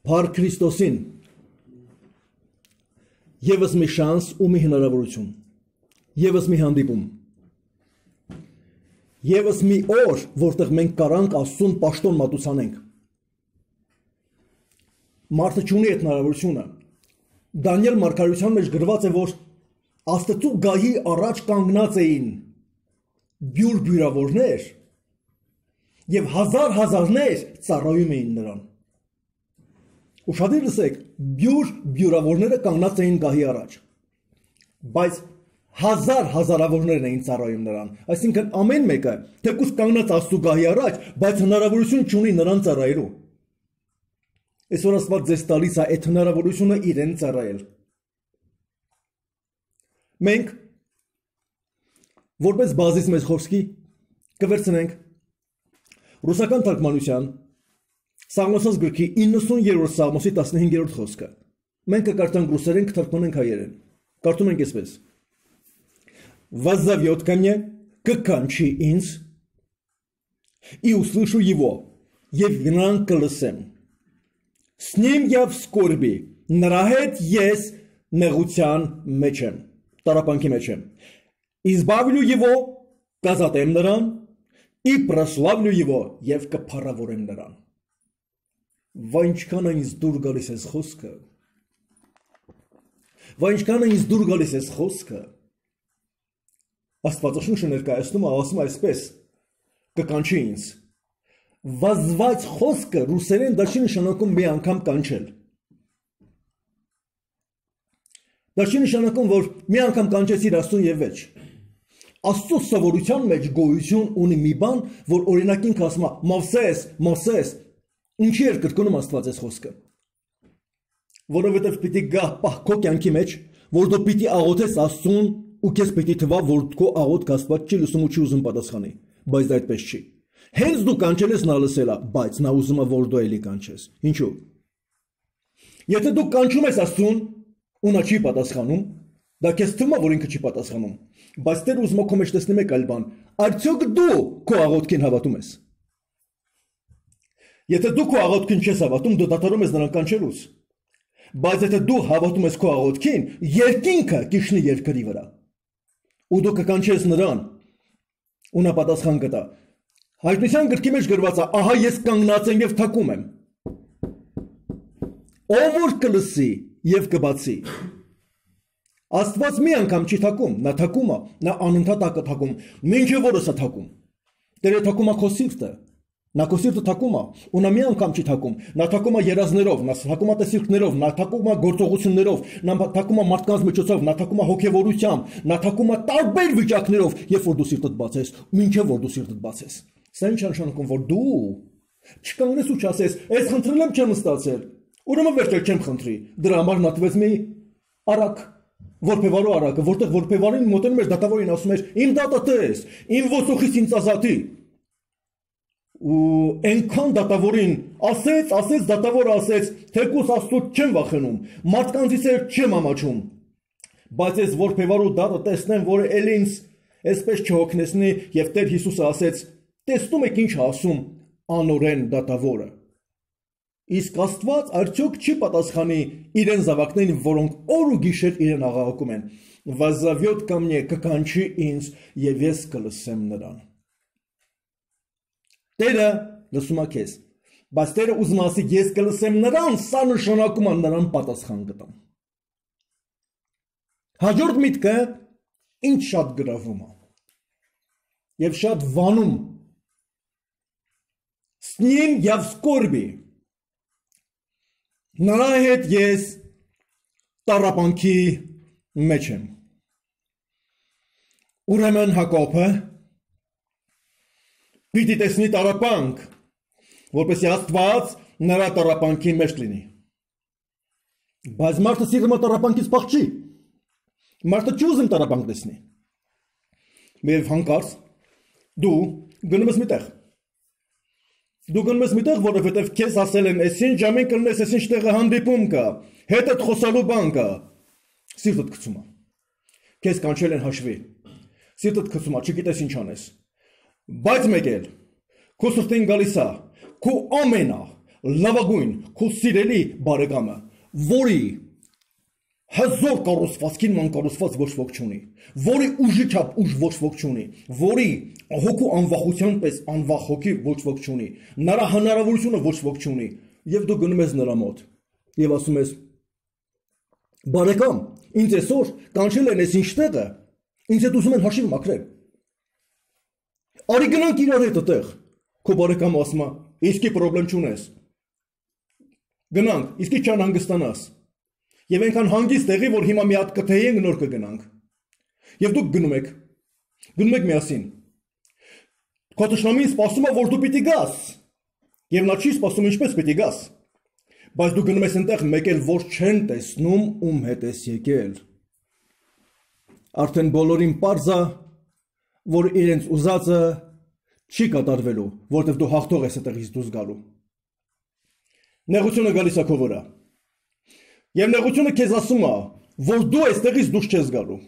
Փառք Քրիստոսին Եվս մի շանս ու մի հնարավորություն, եվս մի հանդիպում, եվս մի օր, որտեղ մենք կարանք Աստծուն պաշտոն մատուցանենք։ Մարդը չունի այդ հնարավորությունը։ Դանիել մարգարեության մեջ գրված է, որ Աստծու գահի առաջ կանգնած էին բյուր բյուրավորներ եւ հազարներ ծառայում էին նրան։ Ուշադիր լսեք, բյուր բյուրավորները կանգնած էին գահի առաջ, բայց հազարավորներն էին ծառայում նրան, այսինքն ամեն մեկը թեկուզ կանգնած Աստծու գահի առաջ, բայց հնարավորություն չունի նրան ծառայելու։ Այսօր Աստված ձեզ տալիս է այդ հնարավորությունը իրեն ծառայել։ Մենք որպես բազիս մեծ խոսքի կվերցնենք ռուսական թարգմանության Սաղմոսոս գրքի 90-րդ Սաղմոսի 15-րդ խոսքը։ Մենք կկարդանք ռուսերեն, կթարգմանենք հայերեն։ Կարդում ենք այսպես. «Воззовет ко мне, կկանչի ինձ, и услышу его, եւ նրան կլսեմ. С ним я в скорби, նրա հետ ես նեղության մեջ եմ, տառապանքի մեջ եմ. избавлю его, կազատեմ նրան, и прославлю его, եւ կփառավորեմ նրան»։ Վայ ինչքան ինձ դուր գալիս ես խոսքը։ Վայ ինչքան ինձ դուր գալիս ես խոսքը։ Աստվածաշունչը ներկայացնում է, ասում է այսպես. կկանչի ինձ։ Վազված խոսքը ռուսերեն դա չի նշանակում մի անգամ կանչել։ Դա չի նշանակում, որ մի անգամ կանչեցիր Աստծուն եւ վերջ։ Աստծո սովորության մեջ գոյություն ունի մի բան, որ օրինակին ասում է Մովսես Ինչի էր կրկնում Աստված այս խոսքը։ Որովհետև պիտի գա պահ քո կյանքի մեջ, որ դու պիտի աղոթես Աստծուն ու քեզ պիտի թվա, որ քո աղոթքը Աստված չի լսում ու չի ուզում պատասխանի, բայց դա այդպես չի։ Հենց դու կանչել ես նա լսել է, բայց նա ուզում է, որ դու էլի կանչես։ Ինչու՞։ Եթե դու կանչում ես Աստծուն ու նա չի պատասխանում, դա քեզ թվում է, որ ինքը չի պատասխանում, բայց Տերը ուզում է քո մեջ տեսնի մեկ այլ բան։ Արդյոք դու քո աղոթքին հավատում ես։ Եթե դու քո աղոթքին չես հավատում, դու դադարում ես նրան կանչելուց։ Բայց եթե դու հավատում ես քո աղոթքին, երկինքը կիջնի երկրի վրա։ Ու դու կկանչես նրան, ու նա պատասխան կտա։ Հայտնության գրքի մեջ գրված է, ահա ես կանգնած եմ եւ թակում եմ։ Ով որ կլսի եւ կբացի։ Աստված մի անգամ չի թակում, նա թակում է, նա անընդհատ է թակում, մինչև որս է թակում։ Տերը թակում է քո սիրտը։ Նա քո սիրտը թակում է, ու նա մի անգամ չի թակում, նա թակում է երազներով, նա թակում է տեսիլքներով, նա թակում է գործողություններով, նա թակում է մարդկանց միջոցով, նա թակում է հոգևորությամբ, նա թակում է տարբեր վիճակներով, երբ որ դու սիրտդ բացես, մինչև որ դու սիրտդ բացես։ Սա ինչ նշանակում, որ դու չկանգնես ու չասես, այս խնդրել եմ չեմ ստացել, ուրեմն վերջել չեմ խնդրի։ Դրա համար նա տվեց մի արակ, որբևարու արակը, որտեղ որբևարին մոտենում էր դատավորին ասում էր, իմ դատը տես, իմ ոսոխից ինձ ազատի։ Ու այնքան դատավորին ասեց դատավորը ասեց, թեկուս Աստծուց չեմ վախենում, մարդկանցից չեմ ամաչում, բայց ես որբևարու դատը տեսնեմ, որը էլ ինձ այսպես չհոգնեցնի, եւ Տեր Հիսուսը ասեց, տեսնում եք ինչ ասում անօրեն դատավորը։ Իսկ Աստված արդյոք չի պատասխանի իրեն զավակներին, որոնք օր ու գիշեր իրեն աղաղակում են։ Воззовет ко мне, կկանչի ինձ, եւ ես կլսեմ նրան։ Տերը լսում է քեզ, բայց Տերը ուզում ասի ես կլսեմ նրան, սա նշանակում է նրան պատասխան կտամ։ Հաջորդ միտքը ինչ շատ գրավում է եւ շատ վանում։ С ним я в скорби։ Նրա հետ ես տառապանքի մեջ եմ։ Ուրեմն Հակոբը պիտի տեսնի տառապանք, որպեսզի Աստված նրա տառապանքի մեջ լինի։ Բայց մարդը սիրում է տառապանքից փախչի։ Մարդը չի ուզում տառապանք տեսնի։ Եվ հանկարծ դու գնում ես միտեղ։ Դու գնում ես միտեղ, որովհետև քեզ ասել են, այսինչ ժամին կլնես, այսինչ տեղը հանդիպում կա, հետդ խոսալու բան կա։ Սիրտդ գցում է։ Քեզ կանչել են հաշվի։ Սիրտդ գցում է, չգիտես ինչ անես։ Բայց մեկ էլ քո սրտին գալիս է, քո ամենա լավագույն, քո սիրելի բարեկամը, որի հզոր կառուցվածքին ման կառուցված ոչ ոք չունի, որի ուժի չափ ուժ ոչ ոք չունի, որի հոգու անվախության պես անվախ հոգի ոչ ոք չունի, նրա հնարավորությունը ոչ ոք չունի, եւ դու գնում ես նրա մոտ եւ ասում ես. բարեկամ, ինձ այսօր կանչել են այս ինչ տեղը, ինձ հետ ուզում են հաշիվ մաքրել։ Արի գնանք իրար հետ այդտեղ։ Քո բարեկամը ասում է, իսկի խնդրեմ չունես։ Գնանք, իսկի չանհանգստանաս։ Եվ այնքան հանգիստ եղի, որ հիմա մի հատ կթեյենք նոր կգնանք։ Եվ դուք գնում եք միասին։ Քո տշնամին սպասում է, որ դու պիտի գաս։ Եվ նա չի սպասում ինչպես պիտի գաս։ Բայց դու գնում ես այնտեղ մեկ էլ որ չեն տեսնում ում հետ ես եկել։ Արդեն բոլորին պարզ է, որ իրենց ուզածը չի կատարվելու, որտեղ դու հաղթող ես այդտեղից դուրս գալու։ Նեղությունը գալիս է քո վրա։ Եվ նեղությունը քեզ ասում է, որ դու այստեղից դուրս չես գալու։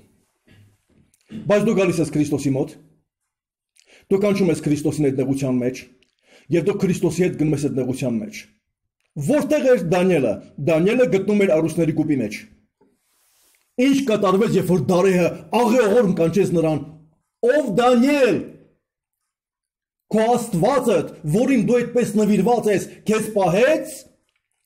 Բայց դու գալիս ես Քրիստոսի մոտ։ Դու կանչում ես Քրիստոսին այդ նեղության մեջ, եւ դու Քրիստոսի հետ գնում ես այդ նեղության մեջ։ Որտեղ էր Դանիելը։ Դանիելը գտնում էր առուստների կուպի մեջ։ Ինչ կատարվեց, երբ որ Դարեհը աղեղորմ կանչեց նրան. ով Դանիել, քո Աստվածդ, որին դու այդպես նվիրված ես, քեզ պահեց։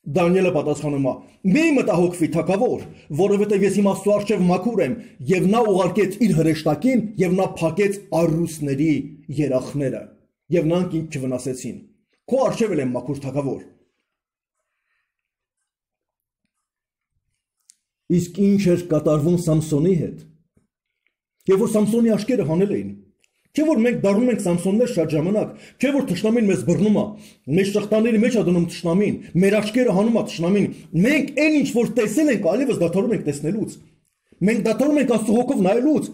Դանիելը պատասխանում է. մի մտահոգվի թագավոր, որովհետև ես իմ Աստծո առջև մաքուր եմ, եւ նա ուղարկեց իր հրեշտակին, եւ նա փակեց առուստների երախները, եւ նրանք ինձ չվնասեցին։ Քո առջև եմ մաքուր թագավոր։ Իսկ ինչ էր կատարվում Սամսոնի հետ։ Եվ որ Սամսոնի աշկերը հանել էին։ Չէ որ մենք դառնում ենք Սամսոններ շատ ժամանակ, չէ որ թշնամին մեզ բռնում է, մեր շղթաների մեջ է դնում թշնամին, մեր աշկերը հանում է թշնամին։ Մենք այն ինչ որ տեսել ենք, այլևս դադարում ենք տեսնելուց։ Մենք դադարում ենք Աստծո հոգով նայելուց։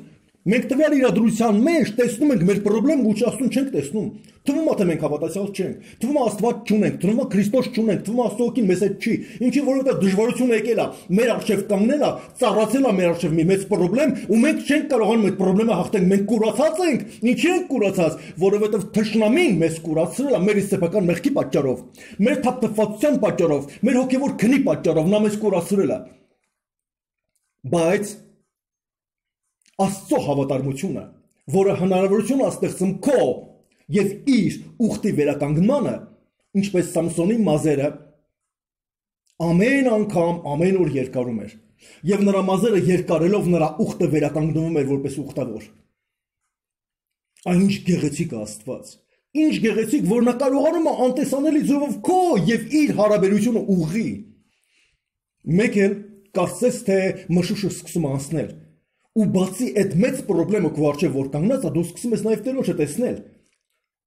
Մենք տվյալ իրադրության մեջ տեսնում ենք մեր խնդրեմ ու ճաշտուն չենք տեսնում։ Թվում է թե մենք հավատացյալ չենք, թվում է Աստված չունենք, թվում է Քրիստոս չունենք, թվում է Աստծո հոգին մեզ հետ չի։ Ինչի որովհետև դժվարություն եկել է, մեր առջև կանգնել է, ծառացել է մեր առջև մի մեծ խնդրեմ ու մենք չենք կարողանում այդ խնդրեմը հաղթենք։ Մենք կուրացած ենք, ինչի ենք կուրացած, որովհետև թշնամին մեզ կուրացրել է մեր սեփական մեղքի պատճառով, մեր թափթփվածության պատճառով, մեր հոգևոր քնի պատճառով նա մեզ կուրացրել է։ Բայց Աստծո հավատարմությունը, որը հնարավորություն է ստեղծում քո եւ իր ուխտի վերականգնմանը, ինչպես Սամսոնի մազերը, ամեն անգամ, ամեն օր երկարում էր, եւ նրա մազերը երկարելով նրա ուխտը վերականգնվում էր որպես ուխտավոր։ Այն ինչ գեղեցիկ է Աստված, ինչ գեղեցիկ, որ նա կարողանում է անտեսանելի ձևով քո եւ իր հարաբերությունը ուղղի։ Մեկ էլ կարծես թե մշուշը սկսում է անցնել։ Ու բացի այդ մեծ խնդրեմը քո առջև որ կանգնած է, դու սկսում ես նաև Տերոջը տեսնել։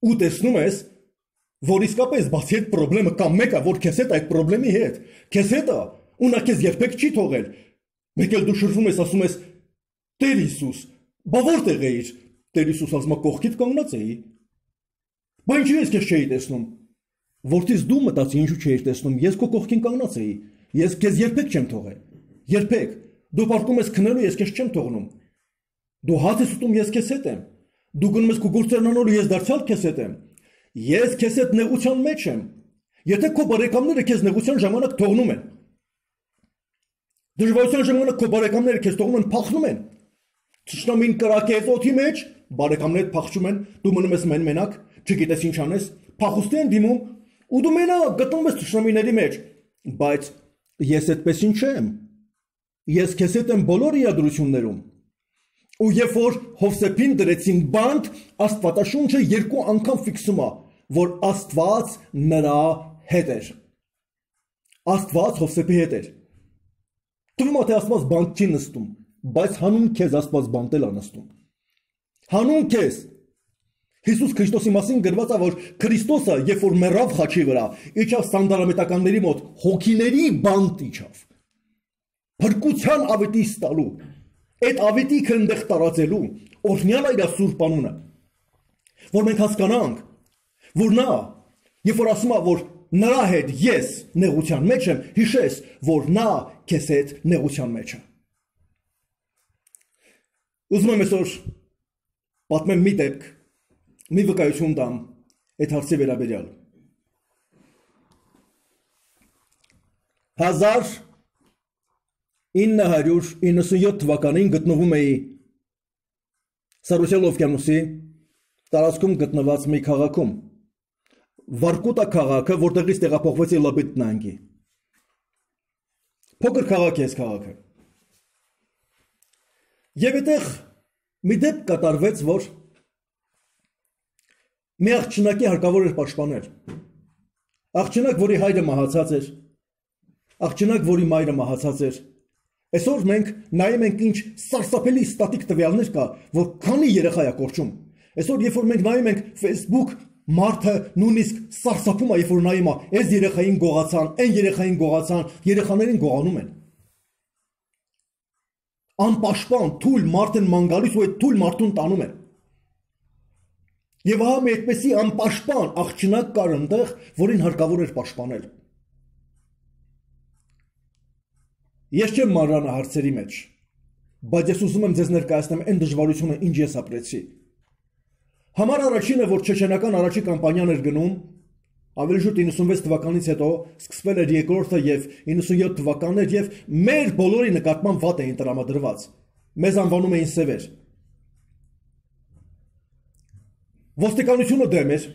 Ու տեսնում ես, որ իսկապես բացի այդ խնդրեմը կա մեկը, որ քեզ հետ այդ խնդրեմի հետ, քեզ հետ է, ու նա քեզ երբեք չի թողել։ Մեկ էլ դու շրվում ես, ասում ես. Տեր Հիսուս, բա որտեղ էիր։ Տեր Հիսուս ասում է, կողքիդ կանգնած էի։ Բա ինչու ես քեզ չէի տեսնում։ Որտից դու մտածի ինչու չէիր տեսնում, ես քո կողքին կանգնած էի։ Ես քեզ երբեք չեմ թողել։ Երբեք։ Դու պարտում ես քնելու, ես քեզ չեմ թողնում։ Դու հաց ես ուտում, ես քեզ հետ եմ։ Դու գնում ես քո գործերն անելու, ես դարձյալ քեզ հետ եմ։ Ես քեզ հետ նեղության մեջ եմ։ Եթե քո բարեկամները քեզ նեղության ժամանակ թողնում են, դժվարության ժամանակ քո բարեկամները քեզ թողնում են, փախնում են։ Թշնամին կրակեց օդի մեջ, բարեկամներդ փախչում են, դու մնում ես մենակ, չգիտես ինչ անես, փախուստի են դիմում, ու դու մենակ գտնում ես թշնամիների մեջ։ Բայց ես այդպես ինչ չեմ։ Ես քեզ հետ եմ բոլոր իրադրություններում։ Ու երբ որ Հովսեփին դրեցին բանտ, Աստվածաշունչը երկու անգամ ֆիքսում է, որ Աստված նրա հետ էր։ Աստված Հովսեփի հետ էր։ Թվում է թե Աստված բանտ չի նստում, բայց հանուն քեզ Աստված բանտել է նստում։ Հանուն քեզ։ Հիսուս Քրիստոսի մասին գրված է, որ Քրիստոսը, երբ որ մեռավ խաչի վրա, իջավ սանդարամետականների մոտ, հոգիների բանտ իջավ։ Փրկության ավետի ստալու, այդ ավետիքը այնտեղ տարածելու, օրհնյալ է իր Սուրբ անունը, որ մենք հասկանանք, որ նա, երբ որ ասում է, որ նրա հետ ես նեղության մեջ եմ, հիշես, որ նա քեզ հետ նեղության մեջ է։ Ուզում եմ այսօր պատմեմ մի դեպք, մի վկայություն տամ այդ հարցի վերաբերյալ։ 1997 թվականին գտնվում էի Սարոսյալ օվկիանոսի տարածքում գտնված մի քաղաքում, Վարկուտա քաղաքը, որտեղից տեղափոխվեցի Լաբիտ նահանգի։ Փոքր քաղաք է այս քաղաքը։ Եվ այդտեղ մի դեպք կատարվեց, որ մի աղջնակի հարկավոր էր պաշտպանել։ Աղջնակ, որի հայրը մահացած էր, աղջնակ, որի մայրը մահացած էր։ Այսօր մենք նայում ենք ինչ սարսափելի ստատիկ տվյալներ կա, որ քանի երեխա է կորչում։ Այսօր երբ որ մենք նայում ենք Facebook, մարդը նույնիսկ սարսափում է, երբ որ նայում է, այս երեխային գողացան, այն երեխային գողացան, երեխաներին գողանում են։ Անպաշտպան թույլ մարդ են ման գալիս ու այդ թույլ մարդուն տանում են։ Եվ ահա մի այդպեսի անպաշտպան աղջնակ կար այնտեղ, որին հարկավոր էր պաշտպանել։ Ես չեմ մանրանը հարցերի մեջ, բայց ես ուզում եմ ձեզ ներկայացնեմ այն դժվարությունը, ինչ ես ապրեցի։ Համար առաջինը, որ չեչենական առաջի կամպանիան էր գնում, ավելի շուտ 96 թվականից հետո սկսվել էր երկրորդը եւ 97 թվականներ եւ մեր բոլորի նկատմամբ վատ էին տրամադրված։ Մեզ անվանում էին սևեր։ Ոստիկանությունը դեմ էր,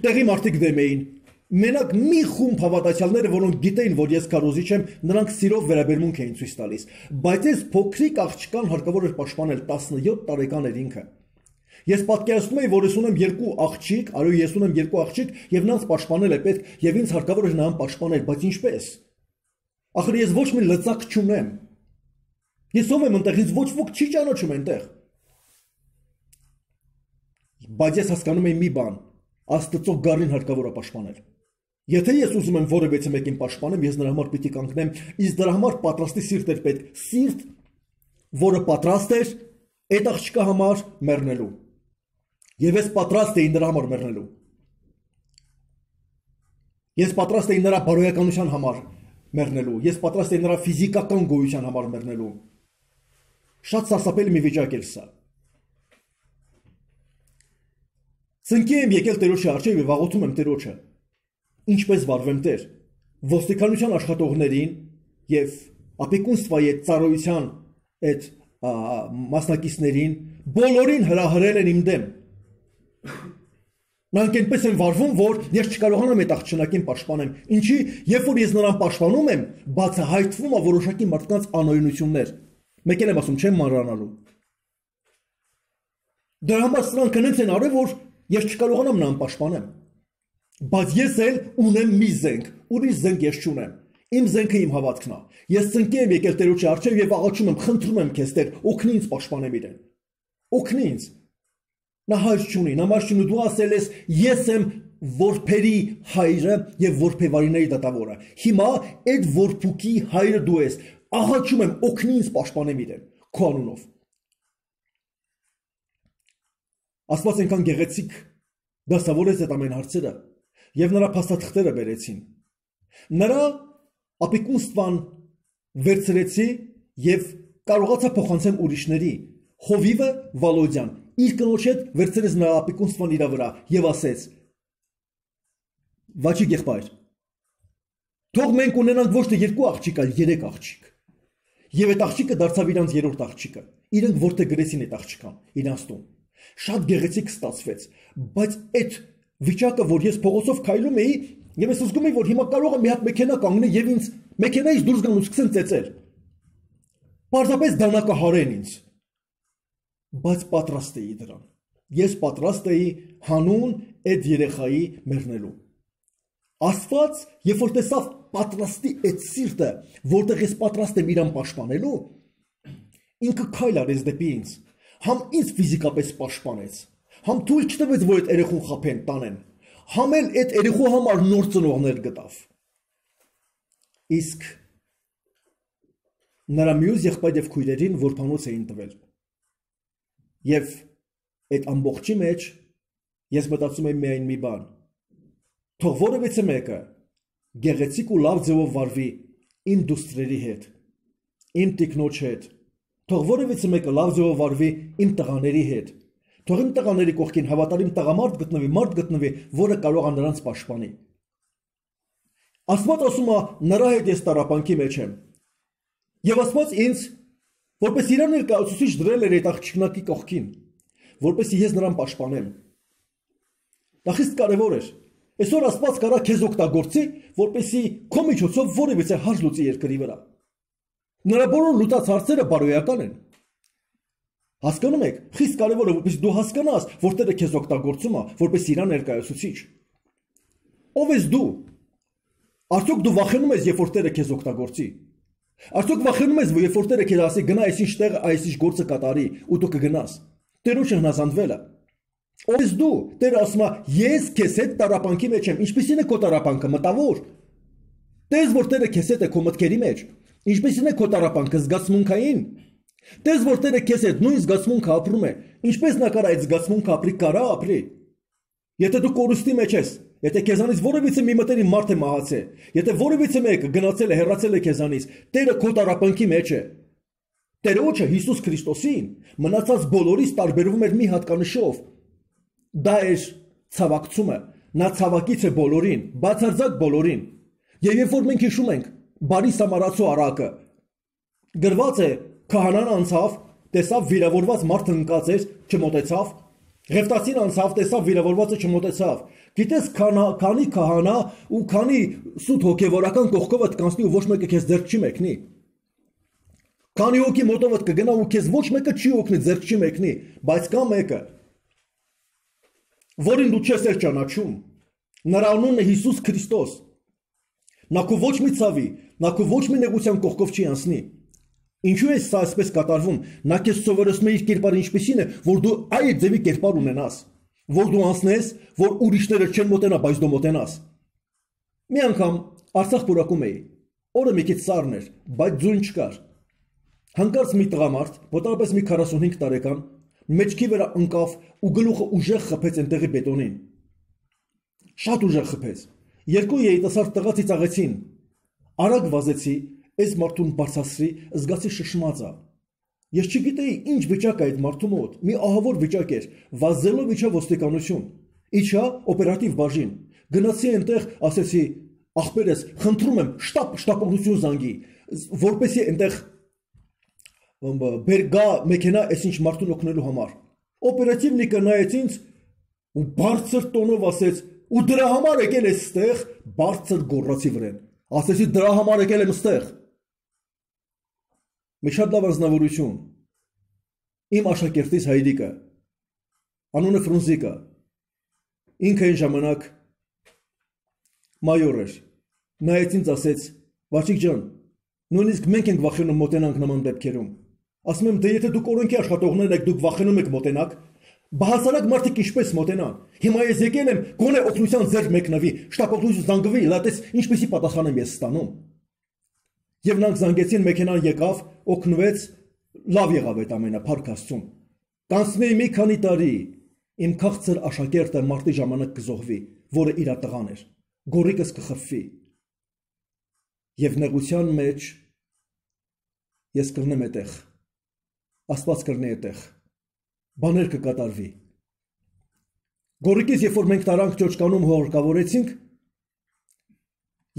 տեղի մարդիկ դեմ էին։ Մենակ մի խումբ հավատացյալները, որոնք գիտեին, որ ես քարոզիչ եմ, նրանք սիրով վերաբերմունք էին ցույց տալիս։ Բայց այս փոքրիկ աղջկան հարկավոր էր պաշտպանել, 17 տարեկան էր ինքը։ Ես պատկերացնում եմ, որ ես ունեմ երկու աղջիկ, այո, ես ունեմ երկու աղջիկ, եւ նրանց պաշտպանել է պետք, եւ ինձ հարկավոր է նրան պաշտպանել, բայց ինչպես։ Ախր ես ոչ մի լծակ չունեմ։ Ես ով եմ այնտեղ, ինձ ոչ ոք չի ճանաչում այնտեղ։ Բայց ես հասկանում եմ մի բան, Աստծո գառին հարկավոր է պաշտպանել։ Եթե ես ուզում եմ որևէ մեկին պաշտպանեմ, ես նրա համար պիտի կանգնեմ, իսկ դրա համար պատրաստի սիրտ էր պետք, սիրտ, որը պատրաստ էր այդ աղջկա համար մեռնելու։ Եվ ես պատրաստ էի նրա համար մեռնելու։ Ես պատրաստ էի նրա բարոյականության համար մեռնելու։ Ես պատրաստ էի նրա ֆիզիկական գոյության համար մեռնելու։ Շատ սարսափելի մի վիճակ էր սա։ Ծնկի եմ եկել Տերոջի առջև եւ աղոթում եմ Տերոջը։ Ինչպես վարվեմ Տեր, ոստիկանության աշխատողներին եւ ապիկունստվայի ծառայության այդ մասնակիցներին բոլորին հրահրել են իմ դեմ։ Նրանք այնպես են վարվում, որ ես չկարողանամ այդ աղջնակին պաշտպանեմ։ Ինչի, երբ որ ես նրան պաշտպանում եմ, բացահայտվում է որոշակի մարդկանց անօրենություններ։ Մեկ էլ եմ ասում, չեմ մանրանալու։ Դրա համար սրանք հենց են արել, որ ես չկարողանամ նրան պաշտպանեմ։ Բայց ես էլ ունեմ մի զենք, ուրիշ զենք ես չունեմ։ Իմ զենքը իմ հավատքն է։ Ես ծնկի եմ եկել Տերոջի առջև եւ աղաչում եմ, խնդրում եմ քեզ Տեր, օգնի ինձ պաշտպանեմ իրեն։ Օգնի ինձ։ Նա հայր չունի, նամար չունի, դու ասել ես, ես եմ որբերի հայրը եւ որբեվարիների դատավորը։ Հիմա այդ որբուկի հայրը դու ես։ Աղաչում եմ, օգնի ինձ պաշտպանեմ իրեն, քո անունով։ Աստված այնքան գեղեցիկ դասավորեց այդ ամեն հարցերը եւ նրա փաստաթղթերը բերեցին։ Նրա ապիկունստվան վերցրեցի եւ կարողացա փոխանցեմ ուրիշների։ Հովիվը Վալոդյան իր կնոջ հետ վերցրեց նրա ապիկունստվան իր վրա եւ ասեց. Վաճի եղբայր, թող մենք ունենանք ոչ թե երկու աղջիկ, այլ 3 աղջիկ։ Եվ այդ աղջիկը դարձավ իրանց երրորդ աղջիկը։ Իրենք որտեղ գրեցին այդ աղջկան, իրանց տուն։ Շատ գեղեցիկ ստացվեց, բայց այդ վիճակը, որ ես փողոցով քայլում էի, եւ ես զգում էի, որ հիմա կարող եմ մի հատ մեքենա կանգնել եւ ինձ մեքենայից դուրս գան ու սկսեն ծեծել։ Պարզապես դանակը հարեն ինձ։ Բայց պատրաստ էի դրան։ Ես պատրաստ էի հանուն այդ երեխայի մեռնելու։ Աստված, երբ որ տեսավ պատրաստի այդ սիրտը, որտեղ ես պատրաստ եմ իրան պաշտպանելու, ինքը քայլ արեց դեպի ինձ։ Համ ինձ ֆիզիկապես պաշտպանեց, համ թույլ չտվեց, որ այդ երեխուն խափեն, տանեն, համ էլ այդ երեխու համար նոր ծնողներ գտավ։ Իսկ նրա մյուս եղբայր եւ քույրերին որբանոց էին տվել։ Եվ այդ ամբողջի մեջ ես մտածում եմ միայն մի բան. թող որևէ մեկը գեղեցիկ ու լավ ձևով վարվի իմ դուստրերի հետ, իմ տիկնոջ հետ, թող որևէ մեկը լավ ձևով վարվի իմ տղաների հետ, թող իմ տղաների կողքին հավատարիմ տղամարդ գտնվի, որը կարող է նրանց պաշտպանի։ Աստված ասում է նրա հետ ես տառապանքի մեջ եմ։ Եվ Աստված ինձ որպես իր ներկայացուցիչ դրել էր այդ աղջիկնակի կողքին, որպեսզի ես նրան պաշտպանեմ։ Դա խիստ կարևոր էր։ Այսօր Աստված կարա քեզ օգտագործի, որպեսզի քո միջոցով որևիցե հարց լուծի երկրի վրա։ Նրա բոլոր լուծած հարցերը բարոյական են։ Հասկանում եք, խիստ կարևոր է, որպեսզի դու հասկանաս, որ Տերը քեզ օգտագործում է, որպես իր ներկայացուցիչ։ Ով ես դու։ Արդյոք դու վախենում ես, երբ որ Տերը քեզ օգտագործի։ Արդյոք վախենում ես, երբ որ Տերը քեզ ասի գնա այսինչ տեղը, այսինչ գործը կատարի, ու դու կգնաս։ Տերոջը հնազանդվել է։ Ով ես դու։ Տերը ասում է, ես քեզ հետ տառապանքի մեջ եմ։ Ինչպիսին է քո տառապանքը, մտավոր։ Տես որ Տերը քեզ հետ է քո մտքերի մեջ։ Ինչպիսին է քո տառապանքը, զգացմունքային։ Տես որ Տերը քեզ հետ նույն զգացմունքը ապրում է։ Ինչպես նա կարա այդ զգացմունքը ապրի, կարա ապրի։ Եթե դու կորուստի մեջ ես, եթե քեզանից որևիցե մի մտերիմ մարդ է մահացել, եթե որևիցե մեկը գնացել է, հեռացել է քեզանից, Տերը քո տառապանքի մեջ է։ Տերոջը Հիսուս Քրիստոսին մնացած բոլորից տարբերվում էր մի հատկանշով։ Դա էր ցավակցումը, նա ցավակից է բոլորին, բացարձակ բոլորին։ Եվ երբ որ մենք հիշում ենք բարի Սամարացու առակը, գրված է քահանան անցավ, տեսավ վիրավորված մարդը ընկած էր, չմոտեցավ, Ղևտացին անցավ, տեսավ վիրավորվածը չմոտեցավ։ Գիտես քանի քահանա ու քանի սուտ հոգևորական կողքովդ կանցնի ու ոչ մեկը քեզ ձեռք չի մեկնի։ Քանի հոգի մոտովդ կգնա ու քեզ ոչ մեկը չի օգնի, ձեռք չի մեկնի, բայց կա մեկը, որին դու չես ճանաչում։ Նրա անունն է Հիսուս Քրիստոս։ Նա քո ոչ մի ցավի, նա քո ոչ մի նեղության կողքով չի անցնի։ Ինչու է սա այսպես կատարվում։ Նա քեզ սովորեցնում է իր կերպարը ինչպեսին է, որ դու այդ ձևի կերպար ունենաս, որ դու անցնես, որ ուրիշները չեն մոտենա, բայց դու մոտենաս։ Մի անգամ Արցախ պուրակում էի։ Օրը մի քիչ սառն էր, բայց ձուն չկար։ Հանկարծ մի տղամարդ, մոտավորապես մի 45 տարեկան, մեջքի վրա ընկավ ու գլուխը ուժեղ խփեց այնտեղի բետոնին։ Շատ ուժեղ խփեց։ Երկու երիտասարդ տղա ծիծաղեցին։ Արագ վազեցի, այս մարդուն բարձրացրի, զգացի շշմած է։ Ես չգիտեի ինչ վիճակ է այդ մարդու մոտ, մի ահավոր վիճակ էր, վազելով իջա ոստիկանություն, իջա օպերատիվ բաժին, գնացի այնտեղ, ասեցի, ախպերես, խնդրում եմ, շտապողություն զանգի, որպեսզի այնտեղ բերգա մեքենա այսինչ մարդուն օգնելու համար։ Օպերատիվնիկը նայեց ինձ ու բարձր տոնով ասեց, ու դրա համար եկել ես ստեղ, բարձր գոռացի վրեն։ Ասեցի դրա համար եկել եմ ստեղ։ Մի շատ լավ անձնավորություն։ Իմ աշակերտից Հայրիկը, անունը Ֆրունզիկը, ինքը այն ժամանակ մայոր էր։ Նայեց ինձ ասեց, Վաչիկ ջան, նույնիսկ մենք ենք վախենում մոտենանք նման դեպքերում։ Ասում եմ, դե եթե դուք օրենքի աշխատողներ եք, դուք վախենում եք մոտենաք, բահասարակ մարդիկ ինչպես մոտենան։ Հիմա ես եկել եմ, գոնե օգնության ձեռք մեկնվի, շտապողություն զանգվի, լատես ինչպեսի պատասխան եմ ես ստանում։ Եվ նրանք զանգեցին, մեքենան եկավ, օգնվեց, լավ եղավ այդ ամենը, փառք Աստծուն։ Կանցնի մի քանի տարի, իմ քաղցր աշակերտը մարտի ժամանակ կզոհվի, որը իր տղան էր, գորիկս կխփվի։ Եվ նեղության մեջ ես կրնեմ այդտեղ, Աստված կրնի այդտեղ, բաներ կկատարվի։ Գորիկից երբ որ մենք տարանք ճոճկանում հողարկավորեցինք,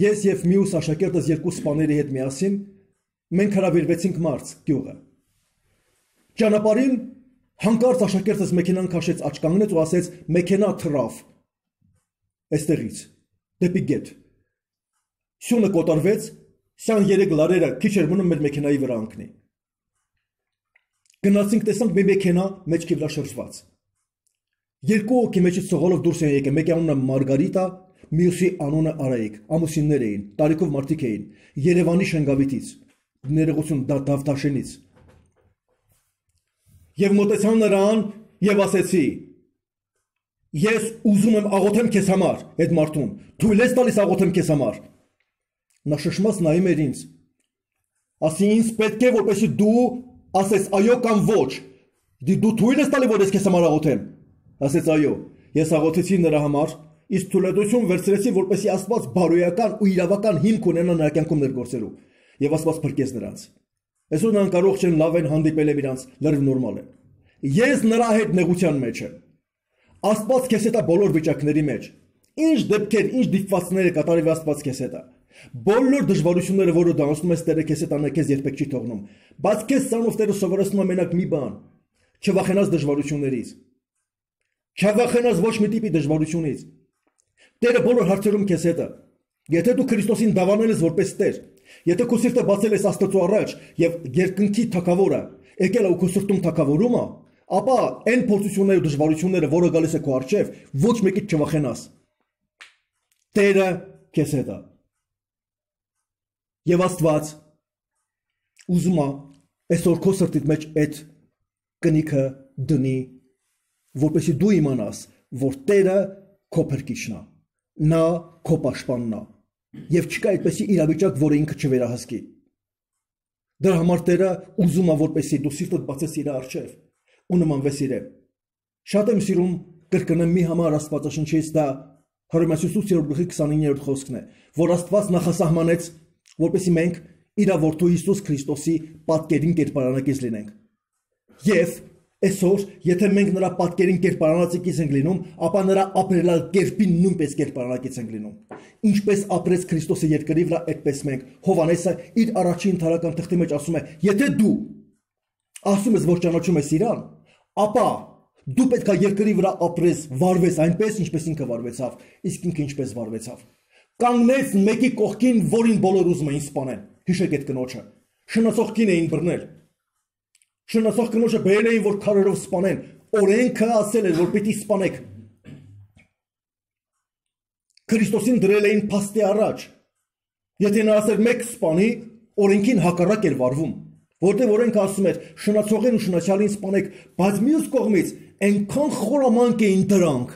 ես և մյուս աշակերտս երկու սպաների հետ միասին, մենք հրավիրվեցինք Մարց գյուղը։ Ճանապարհին հանկարծ աշակերտս մեքենան քաշեց, աջ կանգնեց ու ասեց մեքենա թռավ այստեղից դեպի գետ։ Սյունը կոտորվեց, 23 լարերը քիչ էր մնում մեր մեքենայի վրա ընկնի։ Գնացինք, տեսանք մի մեքենա մեջքի վրա շրջված։ Երկու հոգի մեջից սողալով դուրս են եկել, մեկի անունը Մարգարիտա, մյուսի անունը Արայիկ, ամուսիններ էին, տարիքով մարդիկ էին, Երևանի Շենգավիթից, ներողություն Դավթաշենից։ Եվ մոտեցան նրան եւ ասեցի. Ես ուզում եմ աղոթեմ քեզ համար, այդ մարդուն, թույլ ես տալիս աղոթեմ քեզ համար։ Նա շշմած նայում էր ինձ։ Ասի ինձ պետք է որպեսզի դու ասես այո կամ ոչ։ Դու թույլ ես տալի որ ես քեզ համար աղոթեմ։ Ասեց այո։ Ես աղոթեցի նրա համար, իսկ թույլատվություն վերցրեցի որպեսզի Աստված բարոյական ու իրավական հիմք ունենա նրա կյանքում ներգործելու։ Եվ Աստված փրկեց նրանց։ Այսօր նրանք կարող չեն լավ են հանդիպել եմ իրանց, լրիվ նորմալ է։ Ես նրա հետ նեղության մեջ եմ։ Աստված քեզ հետ է բոլոր վիճակների մեջ։ Ինչ դեպքեր, ինչ դիպվածներ է կատարել Աստված քեզ հետ է։ Բոլոր դժվարությունները, որը դու անցնում ես, Տերը քեզ հետ անե քեզ երբեք չի թողնում։ Բայց քեզ ցանով Տերը սովորեցնում է մենակ մի բան. չվախենաս դժվարություններից։ Չվախենաս ոչ մի տիպի դժվարությունից։ Տերը բոլոր հարցերում քեզ հետ է։ Եթե դու Քրիստոսին դավանել ես որպես Տեր, եթե քո սիրտը բացել ես Աստծո առաջ եւ երկնքի թագավորը եկել է ու քո սրտում թագավորում է, ապա այն փորձությունները ու դժվարությունները, որը գալիս է քո առջև, ոչ մեկից չվախենաս։ Տերը քեզ հետ է։ Եվ Աստված ուզում է այսօր քո սրտիդ մեջ այդ կնիքը դնի, որպեսզի դու իմանաս, որ Տերը քո փրկիչն է, նա քո պաշտպանն է, եւ չկա այդպեսի իրավիճակ, որը ինքը չվերահսկի։ Դրա համար Տերը ուզում է, որպեսզի դու սիրտդ բացես իր առջև ու նմանվես իրեն։ Շատ եմ սիրում կրկնեմ մի համար Աստվածաշնչից, դա Հռոմեացիս 8:29 խոսքն է, որ Աստված նախասահմանեց, որպեսզի մենք իր որդու Հիսուս Քրիստոսի պատկերին կերպարանակից լինենք։ Եվ այսօր, եթե մենք նրա պատկերին կերպարանակից ենք լինում, ապա նրա ապրելալ կերպին նույնպես կերպարանակից ենք լինում։ Ինչպես ապրեց Քրիստոսը երկրի վրա, այդպես մենք։ Հովհաննեսը իր առաջին ընթարական թղթի մեջ ասում է. եթե դու ասում ես, որ ճանաչում ես իրան, ապա դու պետք է երկրի վրա ապրես, վարվես այնպես, ինչպես ինքը վարվեցավ, իսկ ինքը ինչպես վարվեցավ։ Կանգնեց մեկի կողքին, որին բոլոր ուզում էին սպանեն։ Հիշեք այդ կնոջը։ Շնացող կին էին բռնել։ Շնացող կնոջը բերել էին, որ քարերով սպանեն։ Օրենքը ասել էր, որ պիտի սպանեք։ Քրիստոսին դրել էին փաստի առաջ։ Եթե նա ասեր մեկ սպանի, օրենքին հակառակ էր վարվում, որտեղ օրենքը ասում էր շնացողին ու շնացյալին սպանեք, բայց մյուս կողմից այնքան խորամանկ էին դրանք։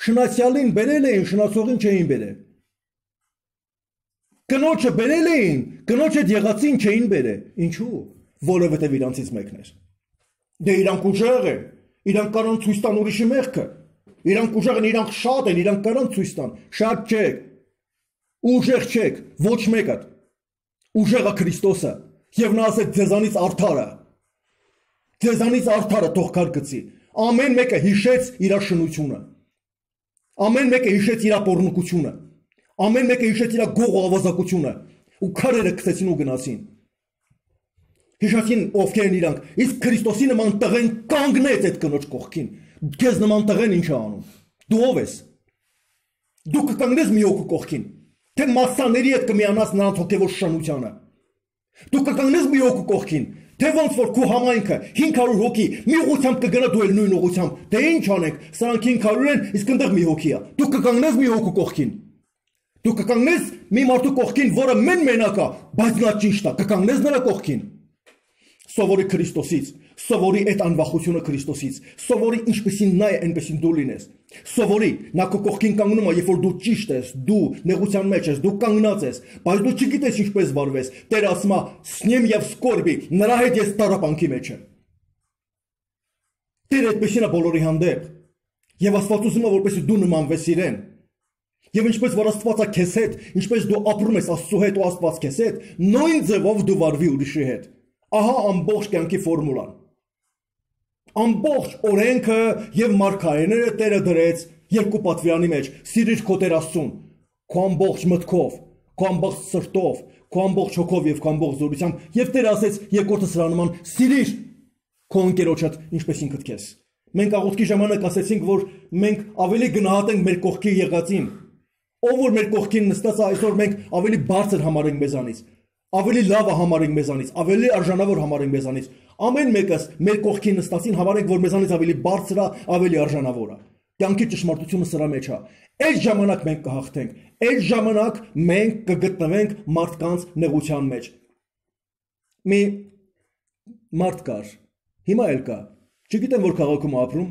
Շնացյալին բերել էին, շնացողին չէին բերել։ Կնոջը բերել էին, կնոջ հետ եղածին չէին բերել։ Ինչու՞։ Որովհետև իրանցից մեկն էր։ Դե իրանք ուժեղ են, իրանք կարան ցույց տան ուրիշի մեղքը։ Իրանք ուժեղ են, իրանք շատ են, իրանք կարան ցույց տան։ Շատ չեք։ Ուժեղ չեք, ոչ մեկը։ Ուժեղը Քրիստոսը, եւ նա ասեց ձեզանից արդարը։ Ձեզանից արդարը թող քար գցի։ Ամեն մեկը հիշեց իր շնությունը։ Ամեն մեկը հիշեց իր ապօրնկությունը։ Ամեն մեկը հիշեց իր գող ու ավազակությունը ու քարերը գցեցին ու գնացին։ Հիշեցին ովքեր են իրանք, իսկ Քրիստոսի նման տղեն կանգնեց այդ կնոջ կողքին։ Քեզ նման տղեն ինչ է անում։ Դու ով ես։ Դու կկանգնես մի հոգու կողքին, թե մասսաների հետ կմիանաս նրանց հոգևոր շնությանը։ Դու կկանգնես մի հոգու կողքին, թե ոնց որ քո համայնքը 500 հոգի մի ուղությամբ կգնա դու էլ նույն ուղությամբ։ Դե ինչ անենք, սրանք 500 են, իսկ այնտեղ մի հոգի է։ Դու կկանգնես մի հոգու կողքին։ Դու կկանգնես մի մարդու կողքին, որը մենակ է, բայց նա ճիշտ է, կկանգնես նրա կողքին։ Սովորի Քրիստոսից, սովորի այդ անվախությունը Քրիստոսից, սովորի ինչպեսին նա է, այնպեսին դու լինես։ Սովորի, նա քո կողքին կանգնում է, երբ որ դու ճիշտ ես, դու նեղության մեջ ես, դու կանգնած ես, բայց դու չգիտես ինչպես վարվես։ Տերը ասում է. «Սնեմ եւ սկորբի, նրա հետ ես տառապանքի մեջ եմ»։ Տերը այդպեսին է բոլորի հանդեպ։ Եվ Աստված ուզում է, որպեսզի դու նմանվես իրեն։ Եվ ինչպես որ Աստվածը քեզ հետ, ինչպես դու ապրում ես Աստծո հետ ու Աստված քեզ հետ, նույն ձևով դու վարվի ուրիշի հետ։ Ահա ամբողջ կյանքի ֆորմուլան։ Ամբողջ օրենքը եւ մարգարեները Տերը դրեց երկու պատվիրանի մեջ. սիրիր քո Տեր Աստծուն, քո ամբողջ մտքով, քո ամբողջ սրտով, քո ամբողջ հոգով եւ քո ամբողջ զորությամբ, եւ Տերը ասեց երկրորդը սրա նման. սիրիր քո ընկերոջդ ինչպես ինքդ քեզ։ Մենք աղոթքի ժամանակ ասեցինք, որ մենք ավելի գնահատենք մեր կողքի եղածին։ Ով որ մեր կողքին նստած է, այսօր մենք ավելի բարձր համարենք մեզանից, ավելի լավը համարենք մեզանից, ավելի արժանավոր համարենք մեզանից։ Ամեն մեկս մեր կողքին նստածին համարենք, որ մեզանից ավելի բարձր է, ավելի արժանավոր է։ Կյանքի ճշմարտությունը սրա մեջ է։ Այդ ժամանակ մենք կհաղթենք, այդ ժամանակ մենք կգտնվենք մարդկանց նեղության մեջ։ Մի մարդ կար, հիմա էլ կա, չգիտեմ որ քաղաքում ապրում,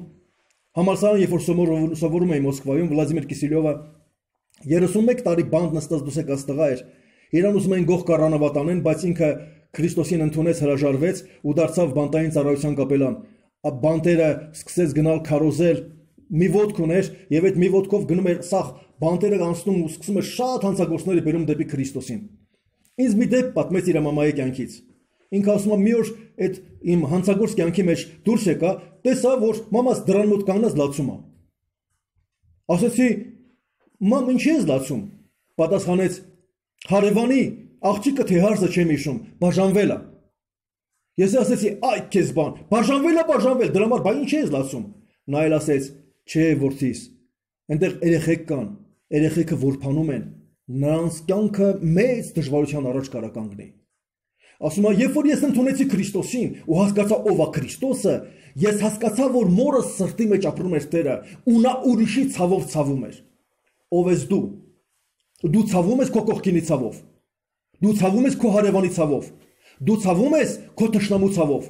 համալսարան երբ որ սովորում էի Մոսկվայում, Վլադիմիր Կիսելյովը 31 տարի բանտ նստած դուսեկած տղա էր, իրան ուզում էին գող կառանավատ անեն, բայց ինքը Քրիստոսին ընդունեց, հրաժարվեց ու դարձավ բանտային ծառայության կապելան։ Բանտերը սկսեց գնալ քարոզել, մի ոտք ուներ եւ այդ մի ոտքով գնում էր սաղ բանտերը անցնում ու սկսում էր շատ հանցագործների բերում դեպի Քրիստոսին։ Ինձ մի դեպք պատմեց իր մամայի կյանքից։ Ինքը ասում է մի օր այդ իմ հանցագործ կյանքի մեջ դուրս եկա, տեսա որ մամաս դրան մոտ կանգնած լացում է։ Ասեցի՝ մամ, ինչի ես լացում։ Պատասխանեց. հարևանի աղջիկը թե հարցը չեմ հիշում, բաժանվել է։ Ես ասեցի, այ քեզ բան, բաժանվել, դրա համար բա ինչ ես լացում։ Նա էլ ասեց, չէ որդիս, այնտեղ երեխեք կան, երեխեքը որփանում են, նրանց կյանքը մեծ դժվարության առաջ կարա կանգնի։ Ասում է, երբ որ ես ընդունեցի Քրիստոսին ու հասկացա ով է Քրիստոսը, ես հասկացա, որ մորս սրտի մեջ ապրում էր Տերը ու նա ուրիշի ցավով ցավում էր։ Ով ես դու։ Դու ցավում ես քո կողքինի ցավով։ Դու ցավում ես քո հարևանի ցավով։ Դու ցավում ես քո թշնամու ցավով։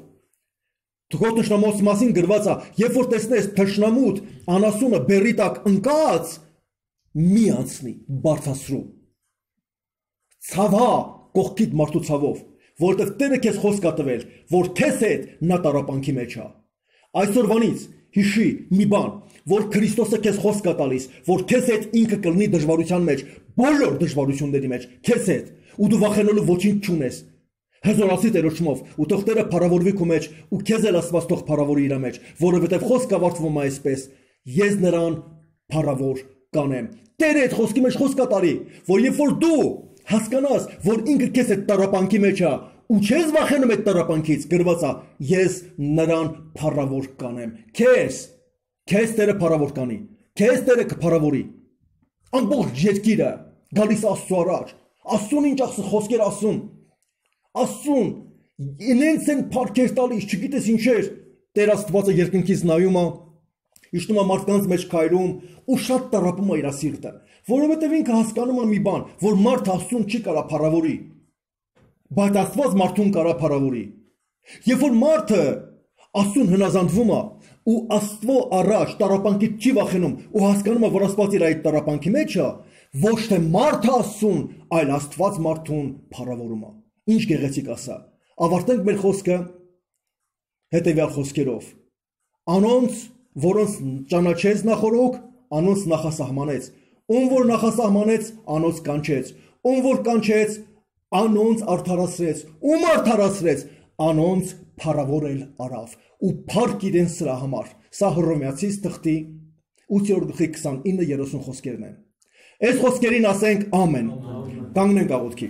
Քո թշնամուց մասին գրված է, երբ որ տեսնես թշնամուդ անասունը բերի տակ ընկած, մի անցնի, բարձրացրու։ Ցավա կողքիդ մարդու ցավով, որտեղ Տերը քեզ խոսք է տվել, որ քեզ հետ նա տառապանքի մեջ է։ Այսօրվանից հիշի մի բան, որ Քրիստոսը քեզ խոսք է տալիս, որ քեզ հետ ինքը կլինի դժվարության մեջ, բոլոր դժվարությունների մեջ, քեզ հետ, ու դու վախենալու ոչինչ չունես։ Հզորացի Տերոջմով, ու թող Տերը փառավորվի քո մեջ, ու քեզ էլ Աստված թող փառավորի իր մեջ, որովհետև խոսքը ավարտվում է այսպես. ես նրան փառավոր կանեմ։ Տերը այդ խոսքի մեջ խոսք է տարի, որ երբ որ դու հասկանաս, որ ինքը քեզ այդ տառապանքի մեջ է, ու չես վախենում այդ տառապանքից, գրված է, ես նրան փառավոր կանեմ։ Քեզ Տերը փառավոր կանի, քեզ Տերը կփառավորի։ Ամբողջ երկիրը գալիս Աստծո առաջ, Աստծուն ինչ խոսքեր ասում, Աստծուն ինձ են փառքեր տալիս, չգիտես ինչեր, Տեր Աստվածը երկնքից նայում է, իջնում է մարդկանց մեջ քայլում ու շատ տառապում է իր սիրտը, որովհետև ինքը հասկանում է մի բան, որ մարդ Աստծուն չի կարա փառավորի, բայց Աստված մարդուն կարա փառավորի։ Երբ որ մարդը Աստծուն հնազանդվում է ու Աստծո առաջ տառապանքից չի վախենում ու հասկանում է, որ Աստված իր այդ տառապանքի մեջ է, ոչ թե մարդը Աստծուն, այլ Աստված մարդուն փառավորում է։ Ինչ գեղեցիկ ասա։ Ավարտենք մեր խոսքը հետևյալ խոսքերով. Անոնց, որոնց ճանաչեց նախորոք, անոնց նախասահմանեց, ում որ նախասահմանեց, անոնց կանչեց, ում որ կանչեց, անոնց արդարացրեց, ում արդարացրեց, անոնց փառավորել արավ ու փառք իրեն սրա համար։ Սա Հռոմեացիս թղթի 8:29-30 խոսքերն են։ Այս խոսքերին ասենք ամեն։ Կանգնենք աղոթքի։